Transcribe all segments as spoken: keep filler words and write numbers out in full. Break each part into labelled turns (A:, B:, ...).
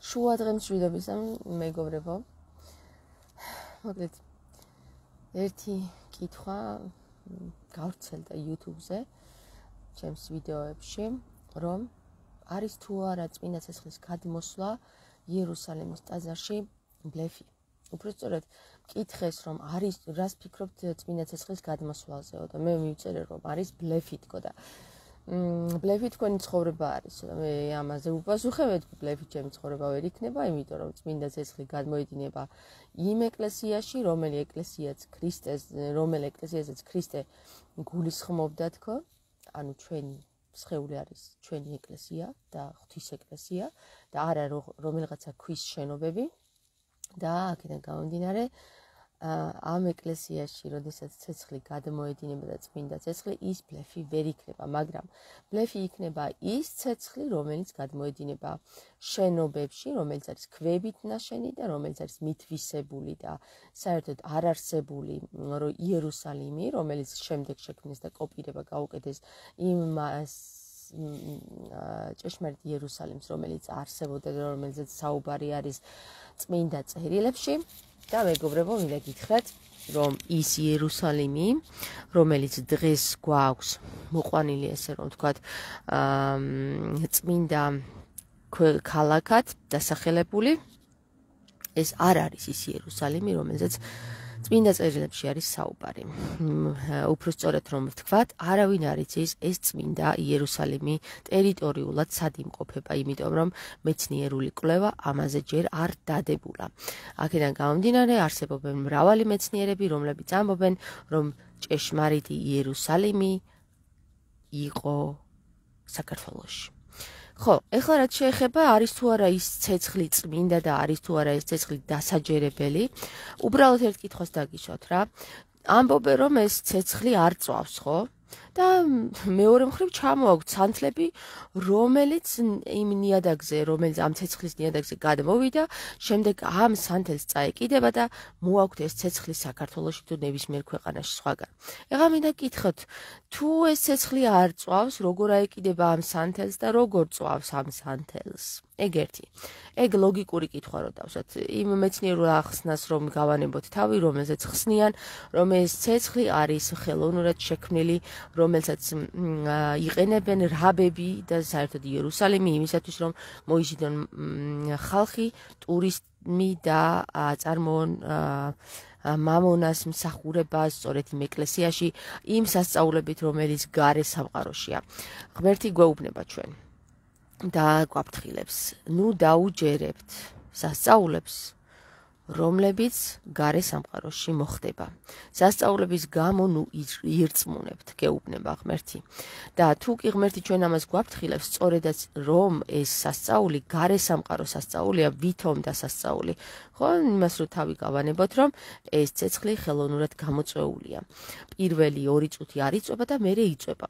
A: შუა დღემ მშვიდობისა მეგობრებო. მოკლედ ერთი კითხვა გავრცელდა YouTube-ზე, ჩემს ვიდეოებში, რომ არის თუ არა წმინდა ცეცხლის გადმოსვლა იერუსალიმის ტაძარში ბლეფი. უბრალოდ მკითხეს, რომ არის, რას ფიქრობთ წმინდა ცეცხლის გადმოსვლაზეო და მე მივწერე, რომ არის ბლეფი თქო და ბლეფი თქვენი ცხოვრება არის. მე ამაზე უპასუხებთ, ბლეფი ჩემი ცხოვრება ვერ იქნება, იმიტომ რომ წმინდა ცეცხლი გადმოედინება იმ ეკლესიაში, რომელი ეკლესიაც ქრისტეს, რომელ ეკლესიასაც ქრისტე გულისხმობდა თქო, ანუ ჩვენი სხეული არის ჩვენი ეკლესია და ღვთის ეკლესია და არა რომელიღაცა ქვის შენობები და აქედან გამომდინარე ამ ეკლესიაში, როდესაც ცეცხლი გადმოედინება და წმინდა ცეცხლი, ის ბლეფი ვერ იქნება, მაგრამ ბლეფი იქნება ის ცეცხლი, რომელიც გადმოედინება შენობებში, რომელიც არის ქვებით ნაშენი და რომელიც არის მითვისებული და საერთოდ არ არსებული იერუსალიმი, რომელიც შემდეგ შექმნეს და კოპირება გაუკეთეს იმ ჭეშმარიტ იერუსალიმს, რომელიც არსებობდა და რომელზეც საუბარი არის წმინდა წერილებში. და მეგობრებო, მინდა გითხრათ, რომ ის იერუსალიმი, რომელიც დღეს გვაქვს მოყვანილი, ესე რომ ვთქვათ, წმინდა ქალაქად დასახელებული, ეს არ არის ის იერუსალიმი, რომელზეც წმინდა წერილებში არის საუბარი. უფრო სწორად რომ ვთქვათ, არავინ არ იცის ეს წმინდა იერუსალიმი ტერიტორიულად სად იმყოფება, იმიტომ რომ მეცნიერული კვლევა ამაზე ჯერ არ დადებულა. აქედან გამომდინარე, არსებობენ მრავალი მეცნიერები, რომლებიც ამბობენ, რომ ჭეშმარიტი იერუსალიმი იყო საქართველოში. ხო, ეხლა რაც შეეხება, არის თუ არა ის ცეცხლი წმინდა და არის თუ არა ეს ცეცხლი დასაჯერებელი, უბრალოდ ერთ კითხვას დაგიშოთ რა. ამბობენ, რომ ეს ცეცხლი არ წვავს, ხო? და მეორე მხრივ ჩამოაქვთ სანთლები, რომელიც იმ ნიადაგზე, რომელიც ამ ცეცხლის ნიადაგზე გადმოვიდა, შემდეგ ამ სანთელს წაეკიდება და მოაქვთ ეს ცეცხლი საქართველოში თუ ნებისმიერ ქვეყანაში სხვაგან. ეხლა მინდა გითხრათ, თუ ეს ცეცხლი არ წვავს, როგორ აეკიდება ამ სანთელს და როგორ წვავს ამ სანთელს? ეგ ერთი. ეგ ლოგიკური კითხვა რო დავსვათ. იმ მეცნიერულ ახსნას რომ გავანებოთ თავი, რომელზეც ხსნიან, რომ ეს ცეცხლი არის ხელოვნურად შექმნილი, რომელსაც იყენებენ რაბები და საერთოდ იერუსალიმი იმისათვის, რომ მოიზიდონ ხალხი, ტურისტი და წარმოონ მამონას მსახურებას სწორედ იმ ეკლესიაში, იმ სასწაულებით, რომელიც გარე სამყაროშია. ღმერთი გვეუბნება ჩვენ და გვაფრთხილებს. ნუ დაუჯერებთ სასწაულებს, რომლებიც გარე სამყაროში მოხდება. სასწაულების გამო ნუ ირწმუნებთ, გეუბნება ღმერთი. და თუ კი ღმერთი ჩვენ ამას გვაფრთხილებს, სწორედაც რომ ეს სასწაული გარე სამყაროს სასწაულია, ვითომ დასასწაული. ხო, იმას რო თავი გავანებოთ, რომ ეს ცეცხლი ხელოვნურად გამოწვეულია. პირველი ორი წუთი არ იწვება და მერე იწვება.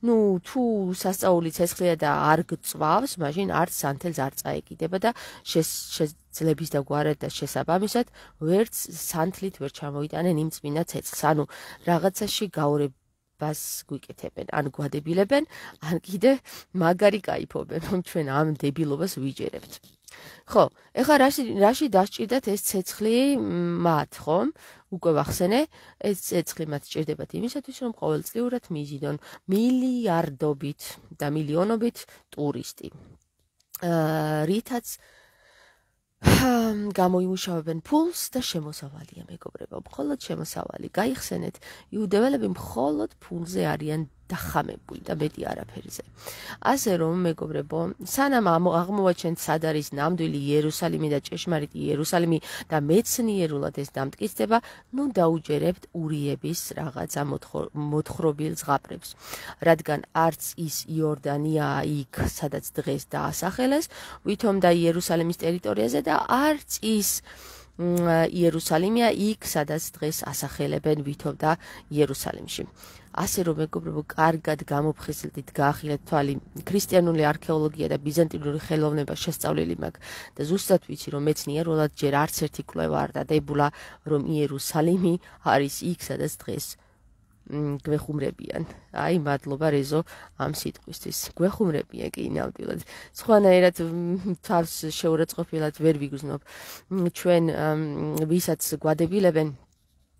A: ნუ თუ სასწაული ცეცხლია და არ გწვავს, მაშინ არც სანთელს არ წაეკიდება და ძლების და გვარად და შესაბამისად ვერც სანთლით ვერ ჩამოიტანენ იმ წმინდა ცეცხლს. ანუ რაღაცაში გაურებას გვიკეთებენ, ან გვადებილებენ, ან კიდე მაგარი кайფობენ, რომ ჩვენ ამ დებილობას ვიჯერებთ. ხო, ეხლა რაში რაში დასჭირდათ ეს ცეცხლი მათ, ხომ? უკვე ვახსენე, ეს ცეცხლი მათ სჭირდებათ იმისათვის, რომ ყოველწლიურად მიიზიდონ მილიარდობით და მილიონობით ტურისტი. რითაც გამოიმუშავებენ ფულს და შემოსავალია, მეგობრებო, მხოლოდ შემოსავალი. გაიხსენეთ, იუდეველები მხოლოდ ფულზე არიან დახამებული და მეტი არაფერზე. ასე რომ, მეგობრებო, სანამ აღმოვაჩენთ სად არის ნამდვილი იერუსალიმი და ჭეშმარიტი იერუსალიმი და მეცნიერულად ეს დამტკიცდება, ნუ დაუჯერებთ ურიების რაღაცა მოთხრობილ ზღაპრებს. რადგან არც ის იორდანია იქ, სადაც დღეს დაასახელეს, ვითომ და იერუსალიმის ტერიტორიაზე და არც ის იერუსალიმია იქ, სადაც დღეს ასახელებენ ვითომ და იერუსალიმში. ასე რომ მეგობრებო, კარგად გამოფხიზლდით, გაახილეთ თვალი, ქრისტიანული არქეოლოგია და ბიზანტინური ხელოვნება შესწავლილი მაქვს და ზუსტად ვიცი, რომ მეცნიერულად ჯერ არც ერთი კვლევა არ დადებულა, რომ იერუსალიმი არის იქ, სადაც დღეს გვეხუმრებიან. აი, მადლობა რეზო ამ სიტყვისთვის. გვეხუმრებიან კი ნამდვილად. სხვანაირად თავს შეურაცხყოფილად ვერ ვიგრძნობ ჩვენ ვისაც გვადებილებენ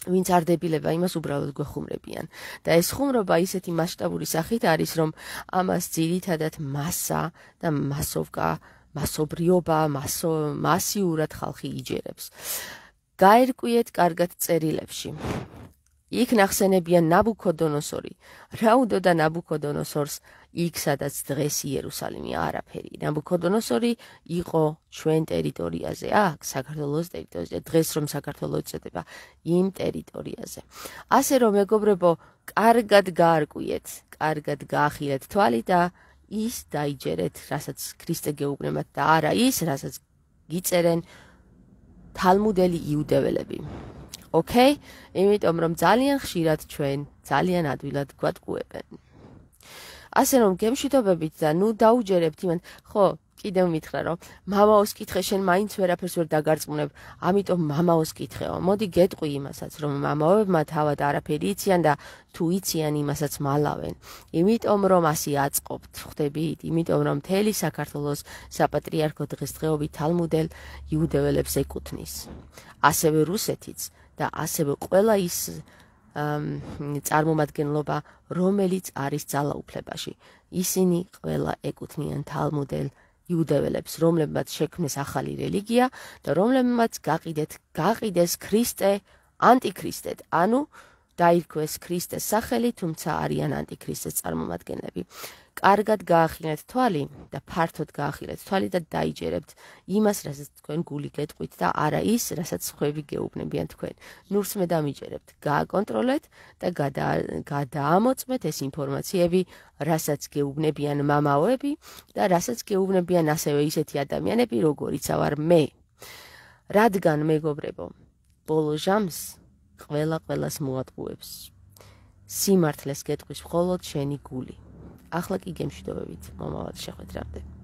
A: ვინც არ დებილება იმას უბრალოდ გვეხუმრებიან და ეს ხუმრობა ისეთი მასშტაბური სახით არის რომ ამას ძირითადად მასა და მასოვკა მასობრიობა მასო მასიურად ხალხი იჯერებს გაერკვიეთ კარგად წერილებში იქ ნახსენებიან ნაბუქოდონოსორი რა უდოდა ნაბუქოდონოსორს იქ სადაც დღეს იერუსალიმი არაფერი ნაბუქოდონოსორი იყო ჩვენ ტერიტორიაზე აქ საქართველოს ტერიტორიაზე დღეს რომ საქართველო ეწოდება იმ ტერიტორიაზე ასე რომ მეგობრებო კარგად გაარკვიეთ კარგად გაახილეთ თვალი და ის დაიჯერეთ რასაც ქრისტე გეუბნებათ და არა ის რასაც გიწერენ თალმუდელი იუდეველები ოკეი იმიტომ რომ ძალიან ხშირად ჩვენ ძალიან ადვილად გვატყუებენ ასე რომ გემშვიდობებით და ნუ დაუჯერებთ იმან ხო კიდევ მითხრა რომ მამაოს კითხე შენ მაინც ვერაფერს ვერ დაგარწმუნებ ამიტომ მამაოს კითხეო მოდი გეტყვი იმასაც რომ მამაოებმა თავად არაფერი იციან და თუ იციან იმასაც მალავენ იმიტომ რომ ასე აწყობთ ხვდებით იმიტომ რომ მთელი საქართველოს საპატრიარქო დღესდღეობით თალმუდელ იუდეველებს ეკუთვნის ასევე რუსეთიც და ასევე ყველა ის წარმომადგენლობა რომელიც არის ძალაუფლებაში ისინი ყველა ეკუთვნიან თალმუდელ იუდეველებს რომლებმაც შექმნეს ახალი რელიგია და რომლებმაც გაყიდეთ გაყიდეს ქრისტე ანტიქრისტედ ანუ დაირქვეს ქრისტეს სახელი თუმცა არიან ანტიქრისტეს წარმომადგენლები კარგად გაახილეთ თვალი და ფართოდ გაახილეთ თვალი და დაიჯერებთ იმას რასაც თქვენ გული გეტყვით და არა ის რასაც სხვები გეუბნებიან თქვენ ნურს მე დამიჯერებთ გააკონტროლეთ და გადაამოწმეთ ეს ინფორმაციები რასაც გეუბნებიან მამაოები და რასაც გეუბნებიან ასევე ისეთი ადამიანები როგორიც ვარ მე რადგან მეგობრებო ბოლო ჟამს ყველა ყველას მოატყუებს სიმართლეს გეტყვის მხოლოდ შენი გული ახლა კი გემშვიდობებით მომავალ შეხვედრამდე